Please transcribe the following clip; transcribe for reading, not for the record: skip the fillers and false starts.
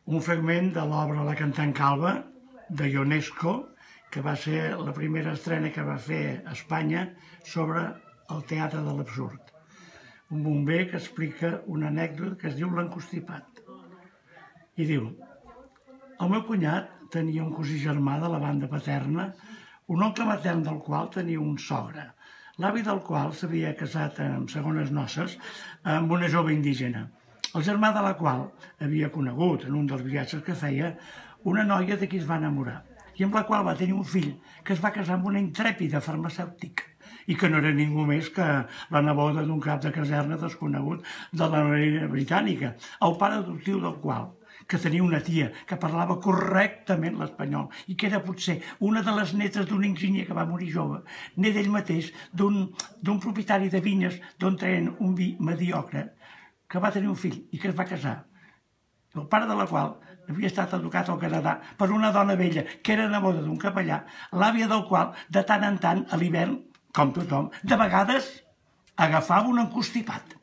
un fragment de l'obra La cantant calba, de Ionesco, que va ser la primera estrena que va fer a Espanya sobre el teatre de l'absurd. Un bomber que explica una anècdota que es diu L'encostipat. I diu: el meu cunyat tenia un cosí germà de la banda paterna, un oncle matern del qual tenia un sogre, l'avi del qual s'havia casat amb segones noces amb una jove indígena, el germà de la qual havia conegut en un dels viatges que feia una noia de qui es va enamorar i amb la qual va tenir un fill que es va casar amb una intrèpida farmacèutica i que no era ningú més que la neboda d'un cap de caserna desconegut de la marina britànica, el pare adoptiu del qual, que tenia una tia que parlava correctament l'espanyol i que era potser una de les netes d'un enginyer que va morir jove, net ell mateix d'un propietari de vinyes d'on treien un vi mediocre, que va tenir un fill i que es va casar, el pare de la qual havia estat educat al Canadà per una dona vella que era neboda d'un capellà, l'àvia del qual, de tant en tant, a l'hivern, com tothom, de vegades agafava un encostipat.